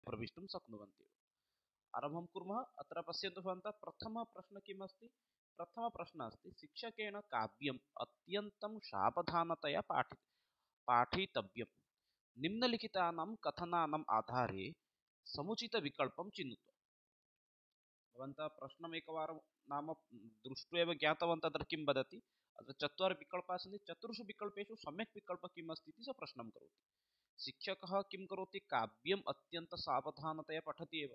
प्रवेष्टुं शक्नुवन्ति। आरम्भं कुर्मः। अत्र पश्यन्तु भवन्तः प्रथमः प्रश्नः किम् अस्ति? प्रथमः प्रश्नः अस्ति शिक्षकेन काव्यम् अत्यन्तं सावधानतया पाठितव्यं। निम्नलिखितानां कथनानाम् आधारे समुचितविकल्पं चिनोतु। भवन्तः प्रश्नम् एकवारं नाम दृष्ट्वा एव ज्ञातवन्तः तत्र किं वदति। अत्र चत्वारः विकल्पाः सन्ति, चतुर्षु विकल्पेषु सम्यक् विकल्पः किम् अस्ति इति सः प्रश्नं करोति। शिक्षकः किं करोति? काव्यम् अत्यन्तं सावधानतया पठति एव।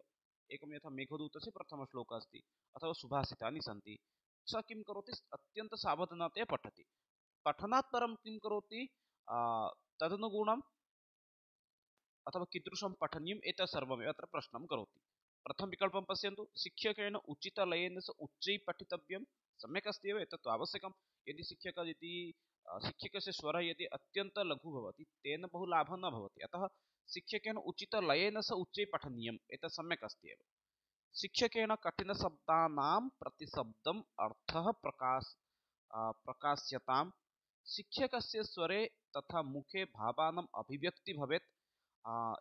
एकं यथा मेघदूतस्य प्रथमश्लोकः अस्ति अथवा सुभाषितानि सन्ति। सः किं करोति? अत्यन्तं सावधानतया पठति। पठनात् परं किं करोति? तदनुगुणम् अथवा कीदृशं पठनीयम् एतत् सर्वमेव अत्र प्रश्नं करोति। प्रथम विकल्पं पश्यन्तु। शिक्षकेन उचितलयेन उच्चैः पठितव्यं। सम्यक् अस्ति एव, एतत् आवश्यकं। यदि शिक्षकस्य स्वरः यदि अत्यन्तं लघु भवति तेन बहु लाभः न भवति। अतः शिक्षकेन उचितलयेन उच्चैः पठनीयम्, एतत् सम्यक् अस्ति एव। शिक्षकेन कठिनशब्दानां प्रतिशब्दम् अर्थः प्रकाश्यतां। शिक्षकस्य स्वरे तथा मुखे भावानाम् अभिव्यक्ति भवेत्।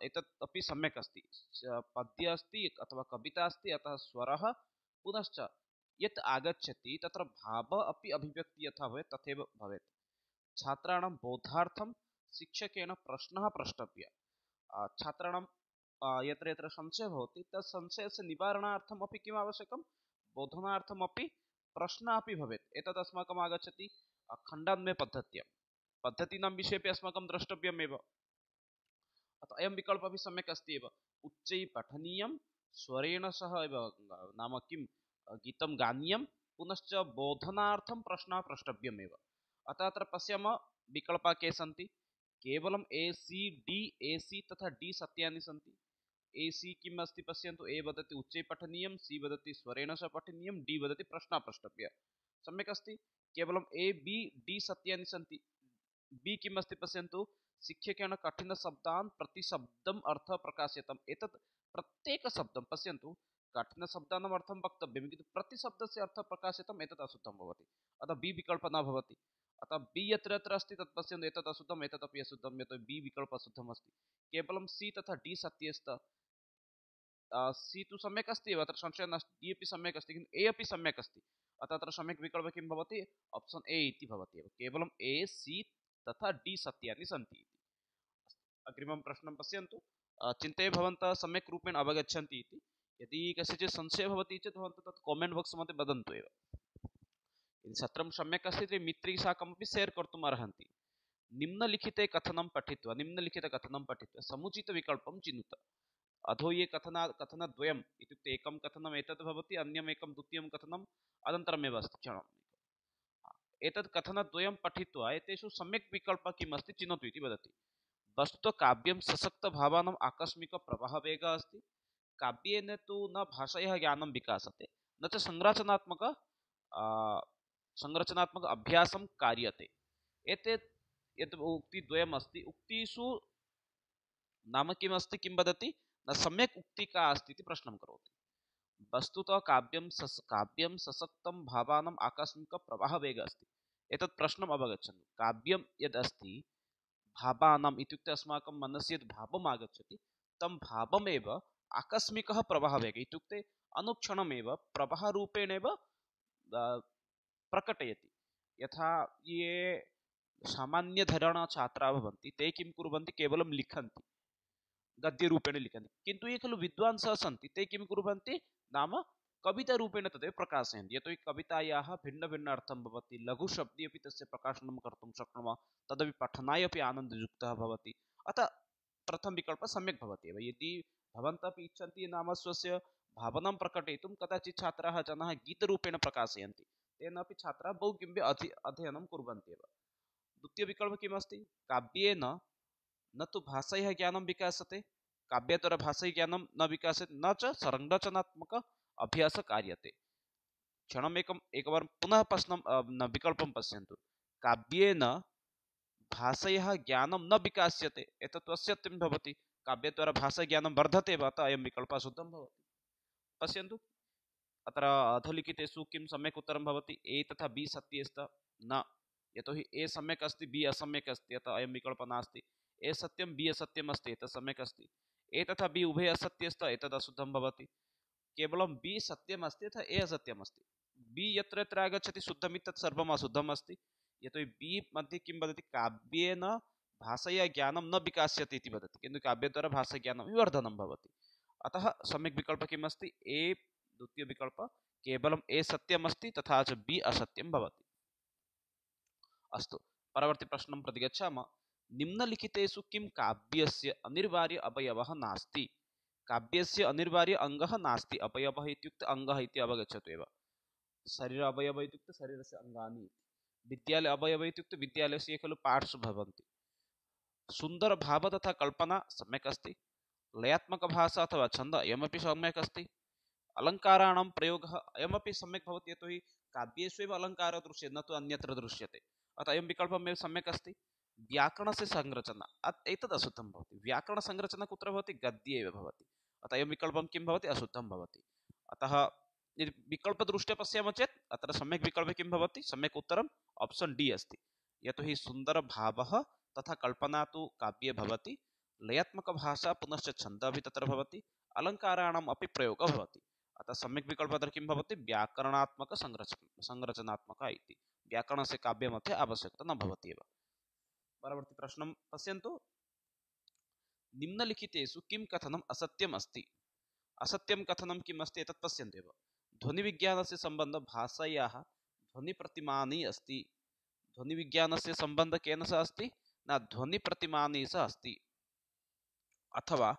एतत् अपि सम्यक् अस्ति। पद्य अस्ति अथवा कविता अस्ति, अतः स्वरः पुनश्च यत् आगच्छति तत्र भावः अपि अभिव्यक्ति यथा भवेत् तथैव भवेत्। छात्राणां बोधार्थं शिक्षकेन प्रश्नः प्रष्टव्यः। छात्राणां यत्र यत्र संशयः भवति तत् संशयस्य निवारणार्थम् अपि किम् आवश्यकं? बोधनार्थमपि प्रश्नः अपि भवेत्। एतत् अस्माकम् आगच्छति खण्डान्वयपद्धत्यां। पद्धतीनां विषये अपि अस्माकं द्रष्टव्यमेव। अतः अयं विकल्पः अपि सम्यक् अस्ति एव। उच्चैः पठनीयं, स्वरेण सह एव नाम किं गीतं गानीयं, पुनश्च बोधनार्थं प्रश्नः प्रष्टव्यमेव। अतः अत्र पश्यामः विकल्पाः के सन्ति। केवलम् ए सी डी, ए सी तथा डी सत्यानि सन्ति। ए सी किम् अस्ति पश्यन्तु। ए वदति उच्चैः पठनीयं, सी वदति स्वरेण सह पठनीयं, डी वदति प्रश्नः प्रष्टव्यः। सम्यक् अस्ति। केवलम् ए बी डी सत्यानि सन्ति। बी किम् अस्ति पश्यन्तु। शिक्षकेन कठिनशब्दान् प्रतिशब्दम् अर्थः प्रकाश्यताम्। एतत् प्रत्येकशब्दं पश्यन्तु, कठिनशब्दानाम् अर्थं वक्तव्यं किन्तु प्रतिशब्दस्य अर्थः प्रकाशितम्, एतत् अशुद्धं भवति। अतः बी विकल्पः न भवति। अतः बी यत्र यत्र अस्ति तत् पश्यन्तु, एतत् अशुद्धम्, एतत् अपि अशुद्धं, यतोहि बी विकल्पः अशुद्धम् अस्ति। केवलं सी तथा डी सत्ये स्तः। सी तु सम्यक् अस्ति एव, अत्र संशयः नास्ति। डी अपि सम्यक् अस्ति, किन्तु ए अपि सम्यक् अस्ति। अतः अत्र सम्यक् विकल्पः किं भवति? ऑप्शन ए इति भवति एव। केवलम् ए सी तथा डी सत्यानि सन्ति। अग्रिमं प्रश्नं पश्यन्तु। चिन्तये भवन्तः सम्यक् रूपेण अवगच्छन्ति इति। यदि कस्यचित् संशयः भवति चेत् भवन्तः तत् कामेण्ट् बाक्स् मध्ये वदन्तु एव। यदि सत्रं सम्यक् अस्ति तर्हि मित्रैः साकमपि शेर् कर्तुम् अर्हन्ति। निम्नलिखितकथनं पठित्वा समुचितविकल्पं चिनुत। अधो ये कथनद्वयम् इत्युक्ते एकं कथनम् एतत् भवति, अन्यम् एकं द्वितीयं कथनम् अनन्तरमेव अस्ति। क्षणम्, एतत् कथनद्वयं पठित्वा एतेषु सम्यक् विकल्पः किम् अस्ति चिनोतु इति वदति। वस्तुतः काव्यं सशक्तभावानाम् आकस्मिकप्रवाहवेगः अस्ति। काव्येन तु न भाषायाः ज्ञानं विकासते, न च संरचनात्मक अभ्यासं कार्यते। एतत् यत् उक्तिद्वयम् अस्ति, उक्तिषु नाम किम् अस्ति, किं वदति? न सम्यक् उक्ति का अस्ति इति प्रश्नं करोति। वस्तुतः काव्यं सशक्तं भावानाम् आकस्मिकप्रवाहवेगः अस्ति। एतत् प्रश्नम् अवगच्छन्तु। काव्यं यद् अस्ति भावानाम् इत्युक्ते अस्माकं मनसि यद् भावम् आगच्छति तं भावमेव आकस्मिकः प्रवाहवेगः इत्युक्ते अनुक्षणमेव प्रवाहरूपेणेव प्रकटयति। यथा ये सामान्यधरणछात्राः भवन्ति ते किं कुर्वन्ति? केवलं लिखन्ति, गद्यरूपेण लिखन्ति। किन्तु ये खलु विद्वांसः सन्ति ते किं कुर्वन्ति? नाम कवितारूपेण तदेव प्रकाशयन्ति। यतोहि कवितायाः भिन्नभिन्न अर्थं भवति। लघुशब्दे अपि तस्य प्रकाशनं कर्तुं शक्नुमः, तदपि पठनाय अपि आनन्दयुक्तः भवति। अतः प्रथमविकल्पः सम्यक् भवति एव। यदि भवन्तः अपि इच्छन्ति नाम स्वस्य भावनां प्रकटयितुं, कदाचित् छात्राः जनाः गीतरूपेण प्रकाशयन्ति, तेन अपि छात्राः बहु किमपि अध्ययनं कुर्वन्ति एव। द्वितीयविकल्पः किमस्ति? काव्येन न तु भाषायाः ज्ञानं विकासते, काव्यद्वारा भाषायाः ज्ञानं न विकासते, न च संरचनात्मक अभ्यासः कार्यते। एकवारं पुनः प्रश्नं विकल्पं पश्यन्तु। काव्येन भाषायाः ज्ञानं न विकास्यते, एतत् असत्यं भवति। काव्यद्वारा भाषाज्ञानं वर्धते वा? अतः अयं विकल्पः शुद्धं भवति। पश्यन्तु अत्र अधोलिखितेषु किं सम्यक् उत्तरं भवति? ए तथा बी सत्ये स्तः न, यतोहि ए सम्यक् अस्ति, बी असम्यक् अस्ति, अतः अयं विकल्पः नास्ति। ए सत्यं, बी असत्यम् अस्ति, एतत् सम्यक् अस्ति। तथा बि उभय असत्यस्त एतद् अशुद्धं भवति। केवलं बि सत्यम् अस्ति अथवा ए असत्यम् अस्ति। बि यत्र यत्र आगच्छति शुद्धम् तत् सर्वम् अशुद्धम् अस्ति। यतोहि बि मध्ये किं वदति काव्येन भाषया ज्ञानं न विकास्यते इति वदति, किन्तु काव्यद्वारा भाषाज्ञानं विवर्धनं भवति। अतः सम्यक् विकल्प किम् अस्ति? ए द्वितीय विकल्प। केवलम् ए सत्यम् अस्ति तथा च बि असत्यं भवति। अस्तु, परवर्ती प्रश्नं प्रति गच्छामः। निम्नलिखितेषु किं काव्यस्य अनिवार्य अवयवः नास्ति? काव्यस्य अनिवार्य अङ्गः नास्ति। अवयवः इत्युक्ते अङ्गः इति अवगच्छतु एव। शरीर अवयव इत्युक्ते शरीरस्य अङ्गानि। विद्यालय अवयव इत्युक्ते विद्यालयस्य ये खलु पार्ट्स् भवन्ति। सुन्दरभाव तथा कल्पना सम्यक् अस्ति। लयात्मकभाषा अथवा छन्द अयमपि सम्यक् अस्ति। अलङ्काराणां प्रयोगः अयमपि सम्यक् भवति, यतोहि काव्येषु एव अलङ्कारः दृश्यते, न तु अन्यत्र दृश्यते। अतः अयं विकल्पमेव सम्यक् अस्ति। व्याकरणस्य संरचना एतद् अशुद्धं भवति। व्याकरणसंरचना कुत्र भवति? गद्ये एव भवति। अतः अयं विकल्पं किं भवति? अशुद्धं भवति। अतः यदि विकल्पदृष्ट्या पश्यामः चेत् अत्र सम्यक् विकल्पे किं भवति? सम्यक् उत्तरम् ऑप्शन डी अस्ति। यतोहि सुन्दरभावः तथा कल्पना तु काव्ये भवति। लयात्मकभाषा पुनश्च छन्दः अपि तत्र भवति। अलङ्काराणाम् अपि प्रयोगः भवति। अतः सम्यक् विकल्पः अत्र किं भवति? व्याकरणात्मक संरचनात्मक इति। व्याकरणस्य काव्यमध्ये आवश्यकता न भवति एव। परवर्ती प्रश्नं पश्यन्तु। निम्नलिखितेषु किं कथनम् असत्यम् अस्ति? असत्यं कथनं किम् अस्ति एतत् पश्यन्तु एव। ध्वनिविज्ञानस्य सम्बन्धः भाषायाः ध्वनिप्रतिमानि अस्ति। ध्वनिविज्ञानस्य सम्बन्धः केन सह अस्ति? न ध्वनिप्रतिमानि सह अस्ति। अथवा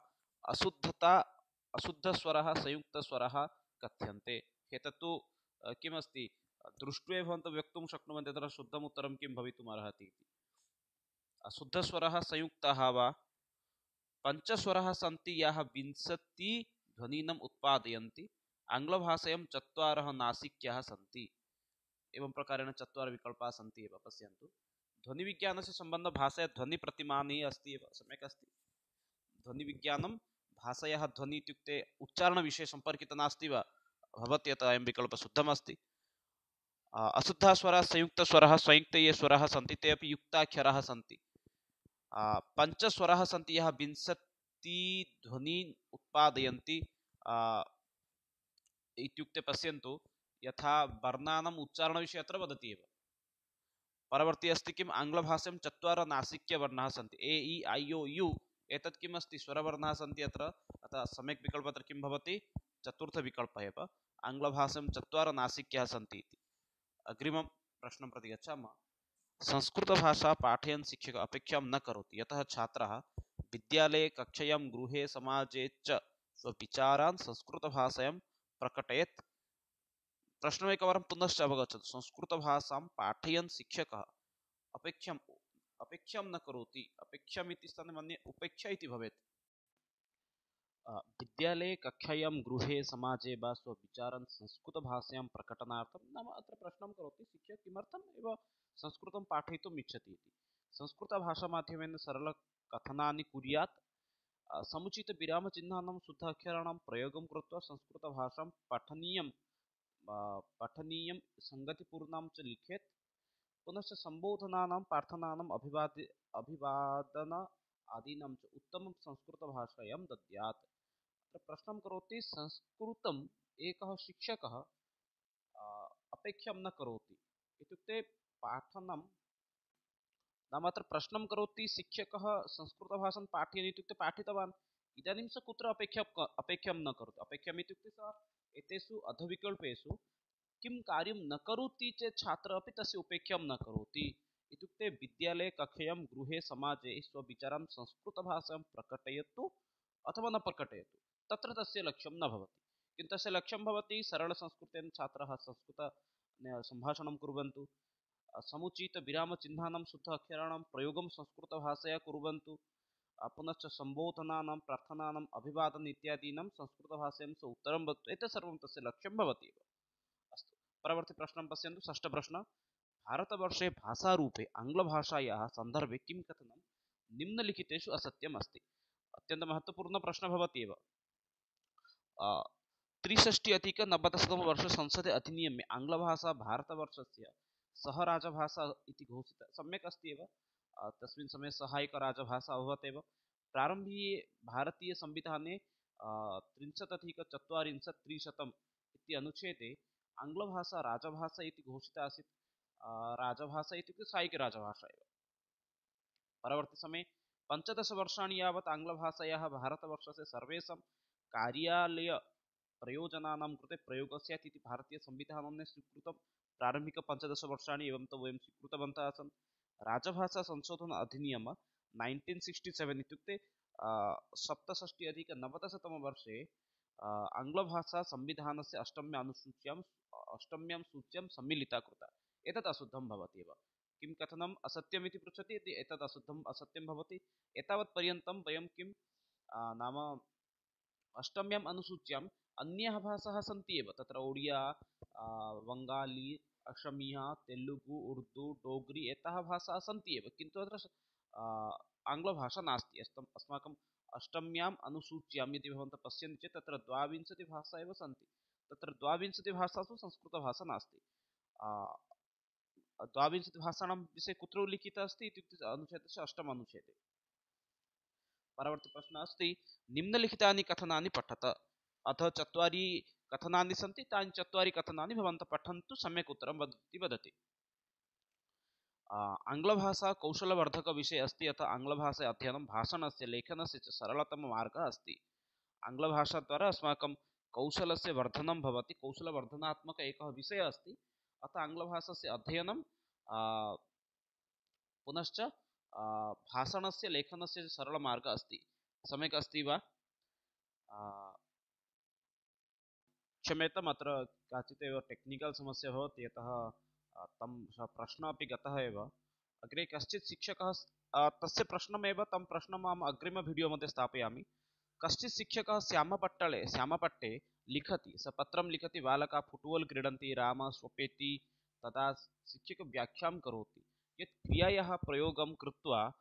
अशुद्धस्वरः संयुक्तस्वरः कथ्यन्ते। एतत्तु किमस्ति? दृष्ट्वा भवन्तः वक्तुं शक्नुवन्ति तत्र शुद्धम् उत्तरं किं भवितुमर्हति इति। अशुद्धस्वरः संयुक्तः वा पञ्चस्वरः सन्ति याः 20 ध्वनीनम् उत्पादयन्ति। आङ्ग्लभाषायां 4 नासिक्याः सन्ति। एवं प्रकारेण 4 विकल्पाः सन्ति एव। पश्यन्तु, ध्वनिविज्ञानस्य सम्बन्धः भाषया ध्वनिप्रतिमानि अस्ति एव। सम्यक् अस्ति। ध्वनिविज्ञानं भाषायाः ध्वनि इत्युक्ते उच्चारणविषये सम्पर्कितः नास्ति वा? भवति। अतः अयं विकल्पः शुद्धमस्ति। अशुद्धः स्वरः संयुक्तस्वरः संयुक्ते ये स्वराः सन्ति ते अपि युक्ताक्षराः सन्ति। पञ्चस्वराः सन्ति याः 20 ध्वनीन् उत्पादयन्ति। इत्युक्ते पश्यन्तु, यथा वर्णानाम् उच्चारणविषये अत्र वदति एव। परवर्ती अस्ति किम्? आङ्ग्लभाषायां 4 नासिक्यवर्णाः सन्ति। ए इ ऐ ओ यु। एतत् किम् अस्ति? स्वरवर्णाः सन्ति अत्र। अतः सम्यक् विकल्पः अत्र किं भवति? चतुर्थविकल्पः एव। आङ्ग्लभाषायां 4 नासिक्याः सन्ति इति। अग्रिमं प्रश्नं प्रति गच्छामः। संस्कृतभाषा पाठयन् शिक्षकः अपेक्षां न करोति, यतः छात्रः विद्यालये कक्षायां गृहे समाजे च स्वविचारान् संस्कृतभाषायां प्रकटयेत्। प्रश्नम् एकवारं पुनश्च अवगच्छतु। संस्कृतभाषां पाठयन् शिक्षकः अपेक्षां न करोति। अपेक्षाम् इति स्थाने मन्ये उपेक्षा इति भवेत्। विद्यालये कक्षायां गृहे समाजे वा स्वविचारान् संस्कृतभाषायां प्रकटनार्थं, नाम अत्र प्रश्नं करोति शिक्षकः किमर्थम् एव संस्कृतं पाठयितुम् इच्छति इति। संस्कृतभाषामाध्यमेन सरलकथनानि कुर्यात्। समुचितविरामचिह्नानां शुद्धाक्षराणां प्रयोगं कृत्वा संस्कृतभाषां पठनीयं सङ्गतिपूर्णां च लिखेत्। पुनश्च सम्बोधनानां प्रार्थनानाम् अभिवादन आदीनां च उत्तमं संस्कृतभाषायां दद्यात्। प्रश्नं करोति संस्कृतम् एकः शिक्षकः अपेक्षां न करोति इत्युक्ते पाठनं, नाम अत्र प्रश्नं करोति शिक्षकः संस्कृतभाषां पाठयन् इत्युक्ते पाठितवान्। इदानीं सः कुत्र अपेक्षां न करोति? अपेक्षाम् इत्युक्ते सः एतेषु अधविकल्पेषु किं कार्यं न करोति चेत् छात्रः अपि तस्य उपेक्षां न करोति। इत्युक्ते विद्यालये कक्षायां गृहे समाजे स्वविचारान् संस्कृतभाषायां प्रकटयतु अथवा न प्रकटयतु, तत्र तस्य लक्ष्यं न भवति। किन्तु तस्य लक्ष्यं भवति सरलसंस्कृतेन छात्राः संस्कृत सम्भाषणं कुर्वन्तु। समुचितविरामचिह्नानां शुद्ध अक्षराणां प्रयोगं संस्कृतभाषया कुर्वन्तु। पुनश्च सम्बोधनानां प्रार्थनानाम् अभिवादन इत्यादीनां संस्कृतभाषायां स उत्तरं वदतु। एतत् सर्वं तस्य लक्ष्यं भवति एव। अस्तु, परवर्ती प्रश्नं पश्यन्तु। षष्ठप्रश्नः। भारतवर्षे भाषारूपे आङ्ग्लभाषायाः सन्दर्भे किं कथनं निम्नलिखितेषु असत्यम् अस्ति? अत्यन्तमहत्त्वपूर्णः प्रश्नः भवति एव। 63-90 संसदे अधिनियमे आङ्ग्लभाषा भारतवर्षस्य सह राजभाषा इति घोषिता। सम्यक् अस्ति एव। तस्मिन् समये सहायकराजभाषा अभवत् एव। प्रारम्भे भारतीयसंविधाने 30+4 इति अनुच्छेदे आङ्ग्लभाषा राजभाषा इति घोषिता आसीत्। राजभाषा इत्युक्ते सायिकराजभाषा एव। परवर्ती समये 15 वर्षाणि यावत् आङ्ग्लभाषायाः भारतवर्षस्य सर्वेषां कार्यालय प्रयोजनानां कृते प्रयोगः स्यात् इति भारतीयसंविधानेन स्वीकृतं। प्रारम्भिक 15 वर्षाणि एवं तु वयं स्वीकृतवन्तः आसन्। राजभाषा संशोधन अधिनियम 1967 इत्युक्ते 67-90-तमवर्षे आङ्ग्लभाषा संविधानस्य अष्टम्यां सूच्यां सम्मिलिता कृता। एतत् अशुद्धं भवति एव। किं कथनम् असत्यम् इति पृच्छति, एतत् अशुद्धम् असत्यं भवति। एतावत् पर्यन्तं वयं किं नाम अष्टम्याम् अनुसूच्याम् अन्याः भाषाः सन्ति एव, तत्र ओडिया, वङ्गाली, असमीया, तेलुगु, उर्दू, डोग्री एताः भाषाः सन्ति एव, किन्तु अत्र आङ्ग्लभाषा नास्ति। अस्माकम् अष्टम्याम् अनुसूच्यां यदि भवन्तः पश्यन्ति चेत् तत्र 22 भाषाः एव सन्ति। तत्र 22 भाषासु संस्कृतभाषा नास्ति। 22 भाषाणां विषये कुत्र उल्लिखितः अस्ति इत्युक्ते अनुच्छेदस्य 8 अनुच्छेदे। परवर्ती प्रश्नः अस्ति, निम्नलिखितानि कथनानि पठत। अथ 4 कथनानि सन्ति, तानि 4 कथनानि भवन्तः पठन्तु, सम्यक् उत्तरं वदति। आङ्ग्लभाषा कौशलवर्धकविषये अस्ति। अतः आङ्ग्लभाषा अध्ययनं भाषणस्य लेखनस्य च सरलतममार्गः अस्ति। आङ्ग्लभाषाद्वारा अस्माकं कौशलस्य वर्धनं भवति, कौशलवर्धनात्मक एकः विषयः अस्ति। अतः आङ्ग्लभाषास्य अध्ययनं पुनश्च भाषणस्य लेखनस्य सरलमार्गः अस्ति। सम्यक् अस्ति वा? क्षम्यताम्, अत्र काचित् एव टेक्निकल् समस्या भवति, यतः तं प्रश्नः अपि गतः एव। अग्रे कश्चित् शिक्षकः तस्य प्रश्नमेव, तं प्रश्नम् अहम् अग्रिम वीडियो मध्ये स्थापयामि। कश्चित् शिक्षकः श्यामपट्टे लिखति, स पत्रं लिखति, बालकाः फुट्बाल् क्रीडन्ति, रामः स्वपेति। तदा शिक्षकः व्याख्यां करोति यत् क्रियायाः प्रयोगं कृत्वा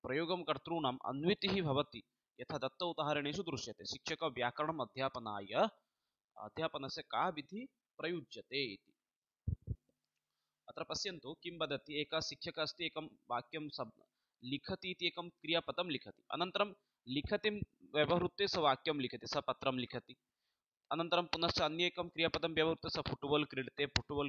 प्रयोगं कर्तॄणाम् अन्वितिः भवति, यथा दत्त उदाहरणेषु दृश्यते। शिक्षकः व्याकरणम् अध्यापनस्य का विधिः प्रयुज्यते इति। अत्र पश्यन्तु किं वदति। एकः शिक्षकः अस्ति, एकं वाक्यं लिखति इति एकं क्रियापदं लिखति, अनन्तरं लिखतिं व्यवहृत्य स वाक्यं लिखति, स पत्रं लिखति। अनन्तरं पुनश्च अन्येकं क्रियापदं व्यवहृत्य स फुट्बाल्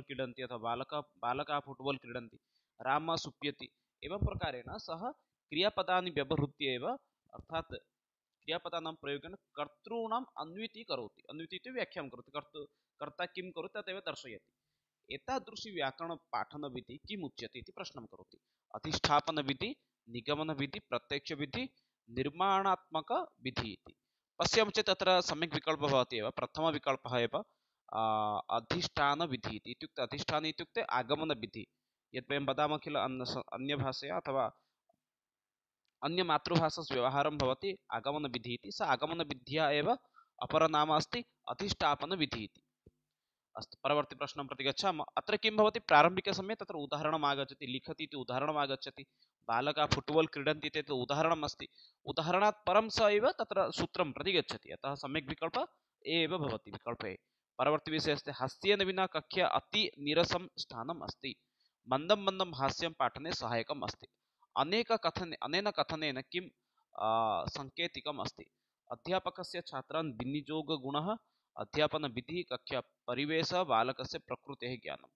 क्रीडन्ति, अथवा बालकाः फुट्बाल् क्रीडन्ति, रामः सुप्यति। एवं प्रकारेण सः क्रियापदानि व्यवहृत्य एव, अर्थात् क्रियापदानां प्रयोगेन कर्तॄणाम् अन्वितिः करोति। अन्वितिः इति व्याख्यां करोति, कर्ता किं करोति तदेव दर्शयति। एतादृशी व्याकरणपाठनविधिः किम् उच्यते इति प्रश्नं करोति। अधिष्ठापनविधिः, निगमनविधिः, प्रत्यक्षविधिः, निर्माणात्मकविधिः इति। पश्यामः चेत् तत्र सम्यक् विकल्पः भवति एव। प्रथमविकल्पः एव अधिष्ठानविधिः इत्युक्ते, अधिष्ठानम् इत्युक्ते आगमनविधिः। यत् वयं वदामः किल, अन्यभाषया अथवा अन्यमातृभाषासु व्यवहारं भवति आगमनविधिः इति, स आगमनविद्या एव अपरनाम अस्ति अधिष्ठापनविधिः इति। अस्तु, परवर्ती प्रश्नं प्रति गच्छामः। अत्र किं भवति, प्रारम्भिकसमये तत्र उदाहरणम् आगच्छति, लिखति इति उदाहरणम् आगच्छति, बालकाः फुट्बाल् क्रीडन्ति इति उदाहरणम् अस्ति। उदाहरणात् परं स एव तत्र सूत्रं प्रति गच्छति, अतः सम्यक् विकल्पः एव भवति, विकल्पे। परवर्ती विषयः अस्ति, हास्येन विना कक्षा अति नीरसं स्थानम् अस्ति, मन्दं मन्दं हास्यं पाठने सहायकम् अस्ति। अनेन कथनेन किं सङ्केतिकम् अस्ति। अध्यापकस्य छात्रान् विनियोगगुणः, अध्यापनविधिः, कक्षा परिवेशः, बालकस्य प्रकृतेः ज्ञानं।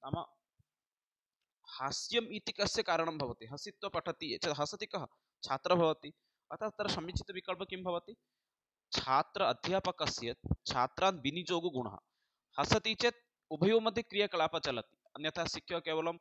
नाम हास्यम् इति कस्य कारणं भवति, हसित्वा पठति चेत् हसति कः, छात्रः भवति। अतः तत्र समीचीनविकल्पः किं भवति, अध्यापकस्य छात्रान् विनियोगगुणः। हसति चेत् उभयोः मध्ये क्रियाकलापः चलति, अन्यथा शिक्षकः केवलं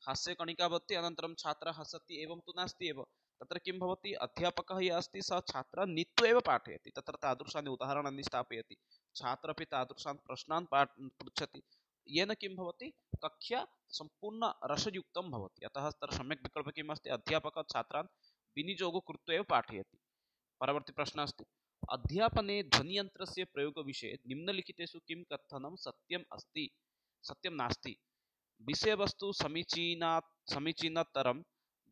हास्यकणिका भवति, अनन्तरं छात्रः हसति, एवं तु नास्ति एव। तत्र किं भवति, अध्यापकः यः अस्ति सः छात्रान् नीत्वा एव पाठयति, तत्र तादृशानि उदाहरणानि स्थापयति, छात्रः अपि तादृशान् प्रश्नान् पृच्छति, येन किं भवति, कक्षा सम्पूर्ण रसयुक्तं भवति। अतः तत्र सम्यक् विकल्पः किम् अस्ति, अध्यापकः छात्रान् विनियोगं कृत्वा एव पाठयति। परवर्ती प्रश्नः अस्ति, अध्यापने ध्वनियन्त्रस्य प्रयोगविषये निम्नलिखितेषु किं कथनं सत्यम् अस्ति, सत्यं नास्ति। विषयवस्तु समीचीनतरं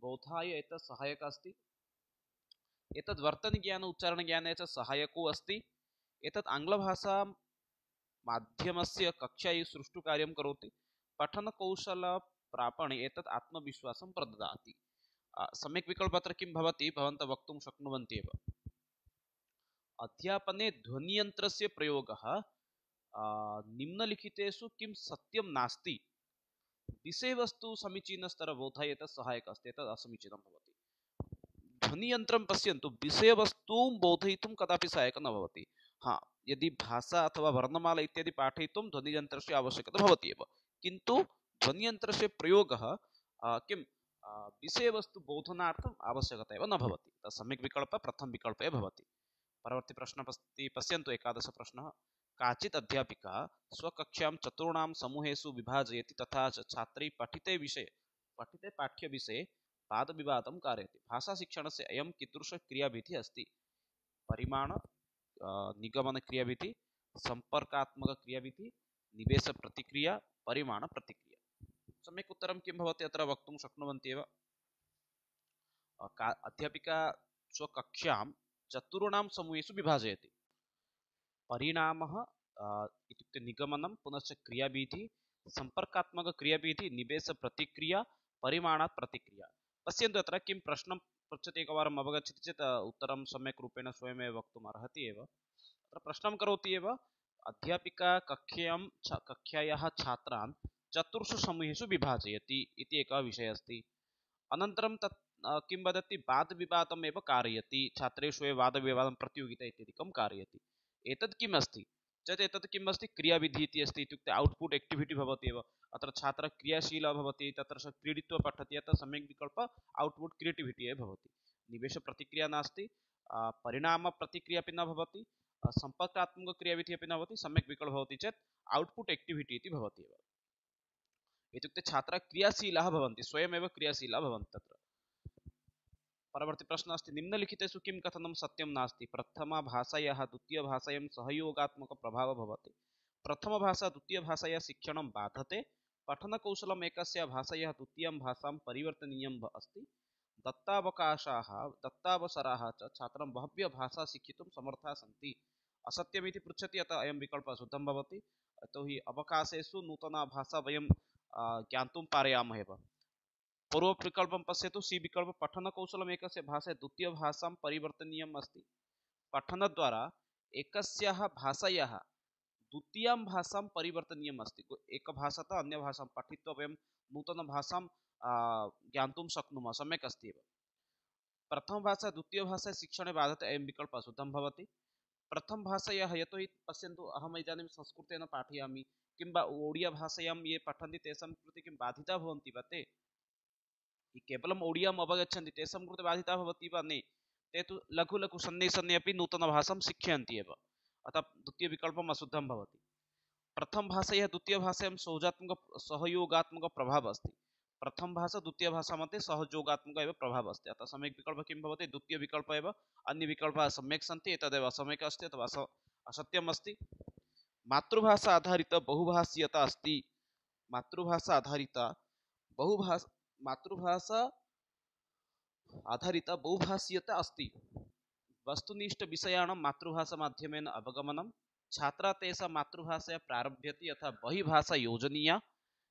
बोधाय एतत् सहायकः अस्ति, एतद् वर्तनज्ञान उच्चारणज्ञाने च सहायको अस्ति, एतत् आङ्ग्लभाषा माध्यमस्य कक्षायै सुष्ठुकार्यं करोति, पठनकौशलप्रापणे एतत् आत्मविश्वासं प्रददाति। सम्यक् विकल्पः अत्र किं भवति भवन्तः वक्तुं शक्नुवन्ति एव। अध्यापने ध्वनियन्त्रस्य प्रयोगः निम्नलिखितेषु किं सत्यं नास्ति विषयवस्तु समीचीनस्तरबोधयेत सहायकः अस्ति एतत् असमीचीनं भवति। ध्वनियन्त्रं पश्यन्तु विषयवस्तुं बोधयितुं कदापि सहायकं न भवति। हाँ, यदि भाषा अथवा वर्णमाला इत्यादि पाठयितुं ध्वनियन्त्रस्य आवश्यकता भवति एव, किन्तु ध्वनियन्त्रस्य प्रयोगः किं विषयवस्तु बोधनार्थम् आवश्यकता एव न भवति। सम्यक् विकल्पः प्रथम विकल्पे भवति। परवर्ती प्रश्न पश्यन्तु 11 प्रश्नः। काचित् अध्यापिका स्वकक्षां चतुर्णां समूहेषु विभाजयति तथा च छात्रैः पठिते पाठ्यविषये वादविवादं कारयति। भाषाशिक्षणस्य अयं कीदृशक्रियाविधिः अस्ति? परिमाण निगमनक्रियाविधिः, सम्पर्कात्मकक्रियाविधिः, निवेशप्रतिक्रिया, परिमाणप्रतिक्रिया। सम्यक् उत्तरं किं भवति अत्र वक्तुं शक्नुवन्ति एव। अध्यापिका स्वकक्षां चतुर्णां समूहेषु विभाजयति। परिणामः इत्युक्ते निगमनं, पुनश्च क्रियाविधिः, सम्पर्कात्मकक्रियाविधिः, निवेशप्रतिक्रिया, परिमाणप्रतिक्रिया। पश्यन्तु अत्र किं प्रश्नं पृच्छति एकवारम् अवगच्छति चेत् उत्तरं सम्यक् रूपेण स्वयमेव वक्तुम् अर्हति एव। अत्र प्रश्नं करोति एव अध्यापिका कक्षायाः छात्रान् चतुर्षु समूहेषु विभाजयति इति एकः विषयः अस्ति। अनन्तरं तत् किं वदति वादविवादम् एव कारयति, छात्रेषु एव वादविवादं प्रतियोगिता इत्यादिकं कारयति। एतत् किम् अस्ति चेत् एतत् किम् अस्ति क्रियाविधिः इति अस्ति, इत्युक्ते औट्पुट् एक्टिविटी भवति एव। अत्र छात्रः क्रियाशीलः भवति, तत्र सः क्रीडित्वा पठति, अतः सम्यक् विकल्पः औट्पुट् क्रिएटिविटी एव भवति। निवेशप्रतिक्रिया नास्ति, परिणामप्रतिक्रिया अपि न भवति, सम्पर्कात्मकक्रियाविधिः अपि न भवति। सम्यक् विकल्पः भवति चेत् औट्पुट् एक्टिविटी इति भवति एव। इत्युक्ते छात्राः क्रियाशीलाः भवन्ति, स्वयमेव क्रियाशीलाः भवन्ति तत्र। परवर्ती प्रश्न अस्ति निम्नलिखितेषु किं कथनं सत्यं नास्ति? प्रथमभाषायाः द्वितीयभाषायां सहयोगात्मकप्रभावः भवति। प्रथमभाषा द्वितीयभाषायाः शिक्षणं बाधते। पठनकौशलम् एकस्य भाषायाः द्वितीयां भाषां परिवर्तनीयम् अस्ति। दत्तावसराः च छात्रं बह्व्यः भाषा शिक्षितुं समर्थाः सन्ति। असत्यमिति पृच्छति, अतः अयं विकल्पः शुद्धं भवति। यतोहि अवकाशेषु नूतना भाषा वयं ज्ञातुं पारयामः एव। पूर्वविकल्पं पश्यतु, सी विकल्प पठनकौशलम् एकस्य भाषायाः द्वितीयभाषां परिवर्तनीयम् अस्ति। पठनद्वारा एकस्याः भाषायाः द्वितीयां भाषां परिवर्तनीयम् अस्ति। एकभाषातः अन्यभाषां पठित्वा वयं नूतनभाषां ज्ञातुं शक्नुमः, सम्यक् अस्ति एव। प्रथमभाषा द्वितीयभाषा शिक्षणे बाधते, अयं विकल्पः शुद्धं भवति। प्रथमभाषायाः यतोहि पश्यन्तु अहम् इदानीं संस्कृतेन पाठयामि, किंवा ओडियाभाषायां ये पठन्ति तेषां कृते किं बाधिताः भवन्ति वा? ते केवलम् ओडियाम् अवगच्छन्ति, तेषां कृते बाधिताः भवति वा? न, ते तु लघु लघु सन्ने सन्ने अपि नूतनभाषां शिक्षयन्ति एव, अतः द्वितीयविकल्पम् अशुद्धं भवति। प्रथमभाषायाः द्वितीयभाषायां सहयोगात्मकप्रभावः अस्ति। प्रथमभाषा द्वितीयभाषा मध्ये सहयोगात्मक एव प्रभावः अस्ति, अतः सम्यक् विकल्पः किं भवति? द्वितीयविकल्पः एव। अन्यविकल्पाः सम्यक् सन्ति, एतदेव असम्यक् अस्ति अथवा असत्यम् अस्ति। मातृभाषा आधारित बहुभाषीयता अस्ति। मातृभाषा आधारित बहुभाषीयता अस्ति। वस्तुनिष्ठविषयाणां मातृभाषामाध्यमेन अवगमनं। छात्राः तेषां मातृभाषया प्रारभ्यते अथवा बहिर्भाषा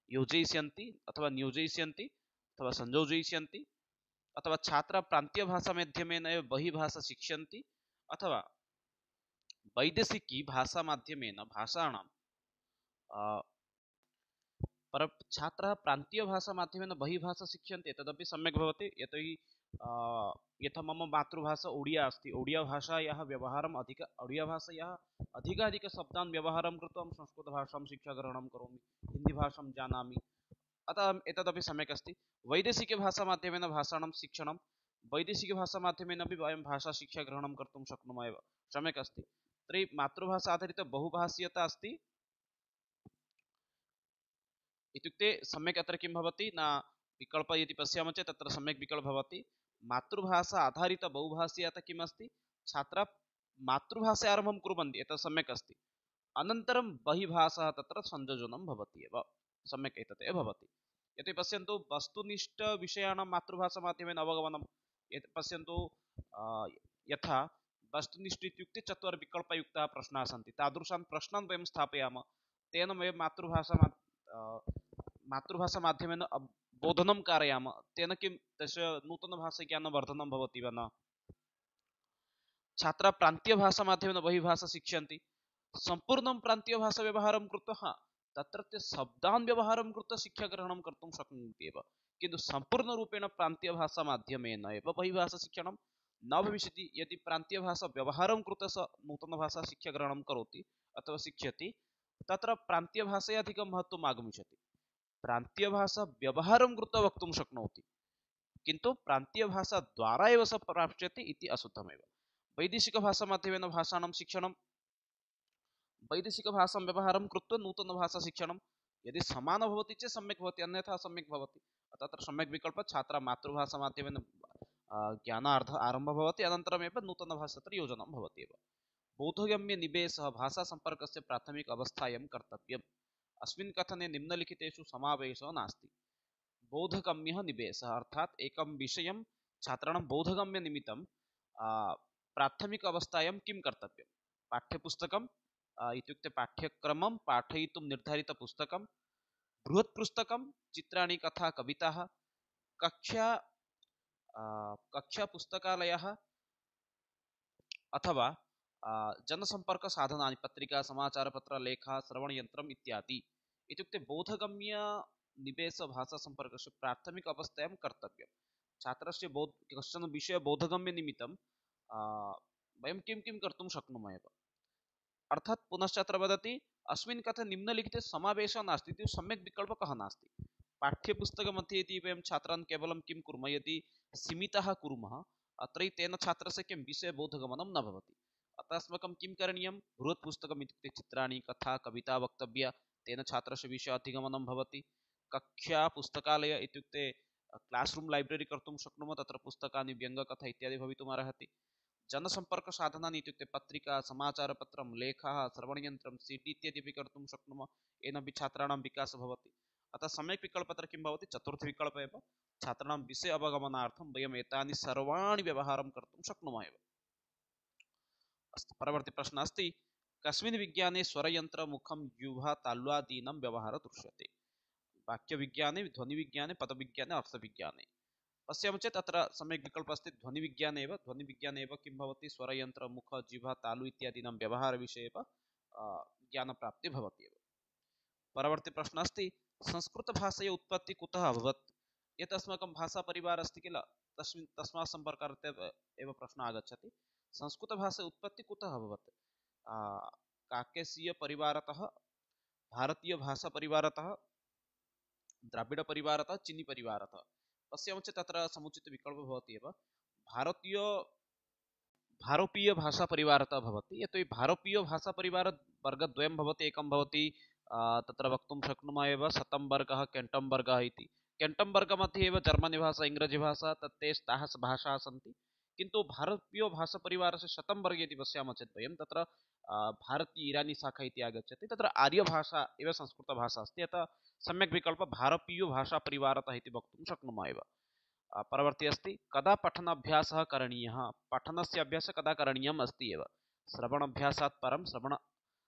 योजयिष्यन्ति अथवा नियोजयिष्यन्ति अथवा संयोजयिष्यन्ति, अथवा छात्राः प्रान्तीयभाषामाध्यमेन एव बहिर्भाषा शिक्षन्ति, अथवा वैदेशिकी भाषामाध्यमेन भाषाणां छात्राः प्रान्तीयभाषामाध्यमेन बहिर्भाषा शिक्षन्ते, तदपि सम्यक् भवति। यतोहि यथा मम मातृभाषा ओडिया अस्ति, ओडियाभाषायाः व्यवहारम् ओडियाभाषायाः अधिकाधिकशब्दान् व्यवहारं कृत्वा संस्कृतभाषां शिक्षाग्रहणं करोमि, हिन्दीभाषां जानामि, अतः एतदपि सम्यक् अस्ति। वैदेशिकभाषामाध्यमेन भाषाणां शिक्षणं, वैदेशिकभाषामाध्यमेन अपि वयं भाषाशिक्षाग्रहणं कर्तुं शक्नुमः एव, सम्यक् अस्ति। तर्हि मातृभाषा आधारित बहुभाषीयता अस्ति इत्युक्ते सम्यक् अत्र किं भवति न, विकल्प यदि पश्यामः चेत् तत्र सम्यक् विकल्पः भवति। मातृभाषा आधारित बहुभाषीयता किम् अस्ति? छात्राः मातृभाषा आरम्भं कुर्वन्ति, एतत् सम्यक् अस्ति, अनन्तरं बहिर्भाषा तत्र संयोजनं भवति एव, सम्यक् एतत् एव भवति। यदि पश्यन्तु वस्तुनिष्ठविषयाणां मातृभाषामाध्यमेन अवगमनं, पश्यन्तु यथा वस्तुनिष्ठ इत्युक्ते 4 विकल्पयुक्ताः प्रश्नाः सन्ति, तादृशान् प्रश्नान् वयं स्थापयामः, तेन वयं मातृभाषामाध्यमेन बोधनं कारयामः तेन किं तस्य नूतनभाषाज्ञानवर्धनं भवति वा न। छात्राः प्रान्तीयभाषामाध्यमेन बहिर्भाषा शिक्षन्ति, सम्पूर्णं प्रान्तीयभाषाव्यवहारं कृत्वा तत्रत्य शब्दान् व्यवहारं कृत्वा शिक्षाग्रहणं कर्तुं शक्नुवन्ति एव, किन्तु सम्पूर्णरूपेण प्रान्तीयभाषामाध्यमेन एव बहिर्भाषाशिक्षणं न भविष्यति। यदि प्रान्तीयभाषाव्यवहारं कृत्वा स नूतनभाषा शिक्षाग्रहणं करोति अथवा शिक्षति, तत्र प्रान्तीयभाषया अधिकं महत्त्वम् आगमिष्यति। प्रान्तीयभाषाव्यवहारं कृत्वा वक्तुं शक्नोति, किन्तु प्रान्तीयभाषाद्वारा एव स प्राप्स्यति इति अशुद्धमेव। वैदेशिकभाषामाध्यमेन भाषाणां शिक्षणं, वैदेशिकभाषां व्यवहारं कृत्वा नूतनभाषाशिक्षणं यदि समानं भवति चेत् सम्यक् भवति, अन्यथा सम्यक् भवति। तत्र सम्यक् विकल्पः छात्रः मातृभाषामाध्यमेन ज्ञानार्थ आरम्भः भवति, अनन्तरमेव नूतनभाषा तत्र योजनं भवति एव। बोधगम्यनिवेशः भाषासम्पर्कस्य प्राथमिक अवस्थायां कर्तव्यम्। अस्मिन् कथने निम्नलिखितेषु समावेशः नास्ति। बोधगम्यः निवेशः अर्थात् एकं विषयं छात्राणां बोधगम्यनिमित्तं प्राथमिक अवस्थायां किं कर्तव्यं, पाठ्यपुस्तकं इत्युक्ते पाठ्यक्रमं पाठयितुं निर्धारितपुस्तकं, बृहत्पुस्तकं, चित्राणि, कथा, कविताः, कक्षा कक्षापुस्तकालयः अथवा जनसम्पर्कसाधनानि, पत्रिका, समाचारपत्र, लेखा, श्रवणयन्त्रम् इत्यादि। इत्युक्ते बोधगम्यनिवेशभाषासम्पर्कस्य प्राथमिक अवस्थायां कर्तव्यं। छात्रस्य कश्चन विषयः बोधगम्यनिमित्तं वयं किं किं कर्तुं शक्नुमः एव। अर्थात् पुनश्च अत्र वदति अस्मिन् कथे निम्नलिखिते समावेशः नास्ति इति सम्यक् विकल्पः कः नास्ति। पाठ्यपुस्तकमध्ये यदि वयं छात्रान् केवलं किं कुर्मः, यदि सीमितः कुर्मः, अत्र तेन छात्रस्य किं विषयबोधगमनं न भवति। अतः अस्माकं किं करणीयं, बृहत्पुस्तकम् इत्युक्ते चित्राणि, कथा, कविता वक्तव्या, तेन छात्रस्य विषयाधिगमनं भवति। कक्षा पुस्तकालय इत्युक्ते क्लास्रूम् लैब्ररी कर्तुं शक्नुमः, तत्र पुस्तकानि, व्यङ्गकथा इत्यादि भवितुम् अर्हति। जनसम्पर्कसाधनानि इत्युक्ते पत्रिका, समाचारपत्रं, लेखाः, श्रवणयन्त्रं, CD इत्यादि अपि कर्तुं शक्नुमः, येनापि छात्राणां विकासः भवति। अतः सम्यक् विकल्पः अत्र किं भवति, चतुर्थविकल्पः एव। छात्राणां विषय अवगमनार्थं वयम् एतानि सर्वाणि व्यवहारं कर्तुं शक्नुमः एव। अस्तु, परवर्ती प्रश्नः अस्ति, कस्मिन् विज्ञाने स्वरयन्त्रमुखं जिह्वा तालव्यादीनां व्यवहारः दृश्यते। वाक्यविज्ञाने, ध्वनिविज्ञाने, पदविज्ञाने, अर्थविज्ञाने। पश्यामः चेत् अत्र सम्यक् विकल्पः अस्ति ध्वनिविज्ञाने एव। ध्वनिविज्ञाने एव किं भवति, स्वरयन्त्र, मुख, जिह्वा, तालु इत्यादीनां व्यवहारविषये एव ज्ञानप्राप्तिः भवति एव। परवर्ती प्रश्नः अस्ति, संस्कृतभाषायाः उत्पत्तिः कुतः अभवत्। यत् अस्माकं भाषापरिवारः अस्ति किल, तस्मात् सम्पर्कार्थं एव प्रश्नः आगच्छति। संस्कृतभाषायाः उत्पत्तिः कुतः अभवत्, काकेशीयपरिवारतः, भारतीयभाषापरिवारतः, द्राविडपरिवारतः, चीनीपरिवारतः। पश्यामः चेत् तत्र समुचितविकल्पः भवति एव, भारोपीयभाषापरिवारतः भवति। यतोहि भारतीयभाषापरिवारवर्गद्वयं भवति, एकं भवति तत्र वक्तुं शक्नुमः एव शतं वर्गः, केण्टं वर्गः इति। केण्टं वर्गमध्ये एव जर्मनी भाषा, इङ्ग्रजी भाषा ताः भाषाः सन्ति, किन्तु भारतीयभाषापरिवारस्य शतं वर्गे यदि पश्यामः चेत् वयं तत्र भारतीय इरानी शाखा इति आगच्छति, तत्र आर्यभाषा एव संस्कृतभाषा अस्ति। अतः सम्यक् विकल्पः भारतीयभाषापरिवारतः इति वक्तुं शक्नुमः एव। परवर्ती अस्ति, कदा पठनाभ्यासः करणीयः। पठनस्य अभ्यासः कदा करणीयम् अस्ति एव, श्रवणाभ्यासात् परं,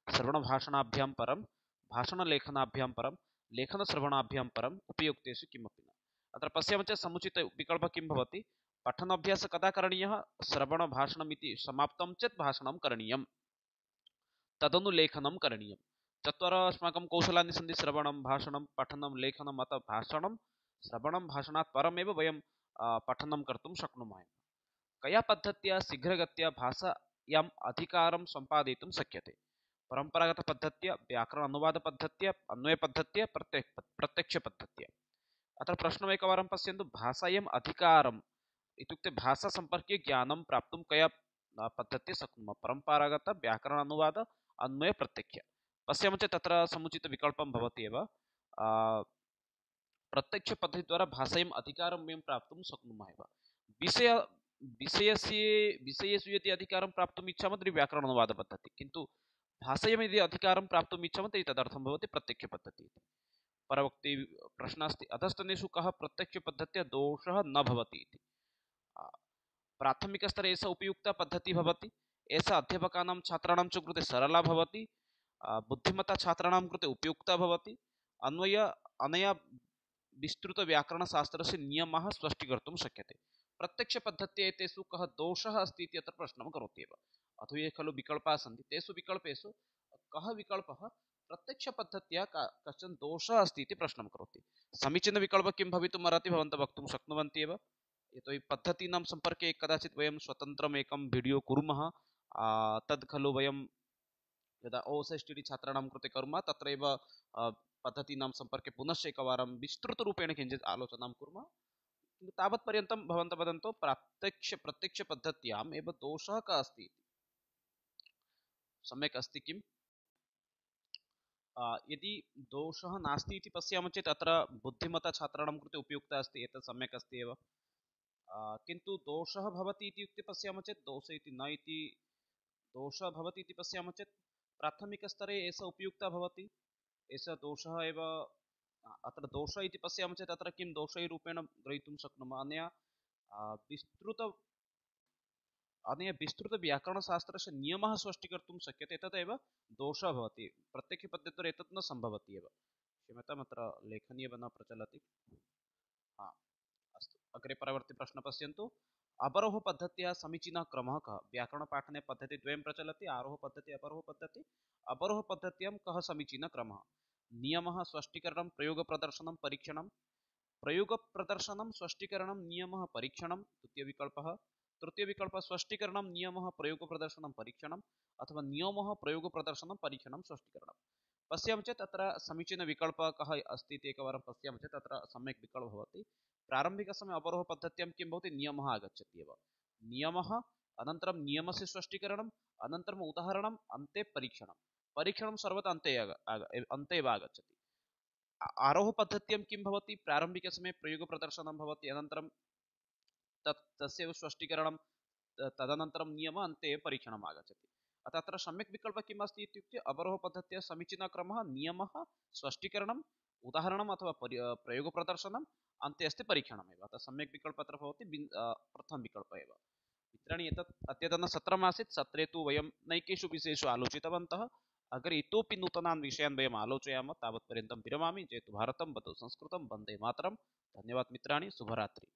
श्रवणभाषणाभ्यां परं, भाषणलेखनाभ्यां परं, लेखनश्रवणाभ्यां परम्, उपयुक्तेषु किमपि न। अत्र पश्यामः चेत् समुचितविकल्पः किं भवति, पठनाभ्यासः कदा करणीयः, श्रवणभाषणम् इति समाप्तं चेत् भाषणं करणीयं, तदनु लेखनं करणीयं। चत्वारः अस्माकं कौशलानि सन्ति, श्रवणं, भाषणं, पठनं, लेखनम्। अतः भाषणं, श्रवणं, भाषणात् परमेव वयं पठनं कर्तुं शक्नुमः। कया पद्धत्या शीघ्रगत्या भाषायाम् अधिकारं सम्पादयितुं शक्यते। परम्परागतपद्धत्या, व्याकरण अनुवादपद्धत्या, अन्वयपद्धत्या, प्रत्यक्षपद्धत्या। अत्र प्रश्नम् एकवारं पश्यन्तु, भाषायाम् अधिकारम् इत्युक्ते भाषासम्पर्के ज्ञानं प्राप्तुं कया पद्धत्या शक्नुमः, परम्परागत, व्याकरण अनुवाद, अन्वय, प्रत्यक्ष। पश्यामः चेत् तत्र समुचितविकल्पं भवति एव, प्रत्यक्षपद्धतिद्वारा भाषायाम् अधिकारं वयं प्राप्तुं शक्नुमः एव। विषयेषु यदि अधिकारं प्राप्तुम् इच्छामः तर्हि व्याकरण अनुवादपद्धतिः, किन्तु भाषायां यदि अधिकारं प्राप्तुम् इच्छामः तर्हि तदर्थं भवति प्रत्यक्षपद्धतिः। परवर्ती प्रश्नः अस्ति, अधस्तनेषु कः प्रत्यक्षपद्धत्या दोषः न भवति इति। प्राथमिकस्तरे एषा उपयुक्ता पद्धतिः भवति, एषा अध्यापकानां छात्राणां च कृते सरला भवति, बुद्धिमता छात्राणां कृते उपयुक्ता भवति। अनया विस्तृतव्याकरणशास्त्रस्य नियमः स्पष्टीकर्तुं शक्यते। प्रत्यक्षपद्धत्या एतेषु कः दोषः अस्ति इति अत्र प्रश्नं करोति एव। अथवा ये खलु विकल्पाः सन्ति तेषु विकल्पेषु कः विकल्पः प्रत्यक्षपद्धत्या कश्चन दोषः अस्ति इति प्रश्नं करोति। समीचीनविकल्पः किं भवितुम् अर्हति भवन्तः वक्तुं शक्नुवन्ति एव। यतोहि पद्धतीनां सम्पर्के कदाचित् वयं स्वतन्त्रम् एकं वीडियो कुर्मः, तद् खलु वयं यदा OSSTD छात्राणां कृते कुर्मः तत्रैव पद्धतीनां सम्पर्के पुनश्च एकवारं विस्तृतरूपेण किञ्चित् आलोचनां कुर्मः। किन्तु तावत्पर्यन्तं भवन्तः वदन्तु प्रत्यक्षपद्धत्याम् एव दोषः कः अस्ति इति। सम्यक् अस्ति किम्? यदि दोषः नास्ति इति पश्यामः चेत् अत्र बुद्धिमता छात्राणां कृते उपयुक्तः अस्ति, एतत् सम्यक् अस्ति एव। किन्तु दोषः भवति इत्युक्ते पश्यामः चेत् दोषः इति न इति, दोषः भवति इति पश्यामः चेत् प्राथमिकस्तरे एषः उपयुक्तः भवति, एषः दोषः एव। अत्र दोषः इति पश्यामः चेत् अत्र किं दोषरूपेण ग्रहीतुं शक्नुमः? अनया विस्तृतव्याकरणशास्त्रस्य नियमः स्पष्टीकर्तुं शक्यते, तदेव दोषः भवति। प्रत्यक्षपद्धत्या एतत् न सम्भवति एव। क्षम्यताम्, अत्र लेखनी एव न प्रचलति। अस्तु, अग्रे परवर्ती प्रश्नः पश्यन्तु। अवरोहपद्धत्याः समीचीनः क्रमः कः? व्याकरणपाठने पद्धतिद्वयं प्रचलति, आरोहपद्धतिः अपरोहपद्धतिः। अवरोहपद्धत्यां कः समीचीनः क्रमः? नियमः, स्पष्टीकरणं, प्रयोगप्रदर्शनं, परीक्षणं। प्रयोगप्रदर्शनं, स्पष्टीकरणं, नियमः, परीक्षणं द्वितीयविकल्पः। तृतीयविकल्पः स्पष्टीकरणं, नियमः, प्रयोगप्रदर्शनं, परीक्षणम्, अथवा नियमः, प्रयोगप्रदर्शनं, परीक्षणं, स्पष्टीकरणं। पश्यामः चेत् अत्र समीचीनविकल्पः कः अस्ति इति एकवारं पश्यामः चेत् अत्र सम्यक् विकल्पः भवति। प्रारम्भिकसमये अवरोहपद्धत्यां किं भवति? नियमः आगच्छति एव। नियमः, अनन्तरं नियमस्य स्पष्टीकरणम्, अनन्तरम् उदाहरणम्, अन्ते परीक्षणं। परीक्षणं सर्वदा अन्ते एव आगच्छति। आरोहपद्धत्यां किं भवति? प्रारम्भिकसमये प्रयोगप्रदर्शनं भवति, अनन्तरं तस्यैव स्पष्टीकरणं, तदनन्तरं नियमः, अन्ते परीक्षणम् आगच्छति। अतः अत्र सम्यक् विकल्पः किम् अस्ति इत्युक्ते अवरोहपद्धत्याः समीचीनः क्रमः नियमः, स्पष्टीकरणम्, उदाहरणम् अथवा प्रयोगप्रदर्शनम्, अन्ते अस्ति परीक्षणमेव। अतः सम्यक् विकल्पः अत्र भवति प्रथमविकल्पः एव। मित्राणि, एतत् अद्यतनसत्रमासीत्। सत्रे तु वयं नैकेषु विषयेषु आलोचितवन्तः। अग्रे इतोपि नूतनान् विषयान् वयम् आलोचयामः। तावत्पर्यन्तं विरमामि। जयतु भारतं, वतु संस्कृतं, वन्दे मातरम्। धन्यवादः मित्राणि, शुभरात्रि।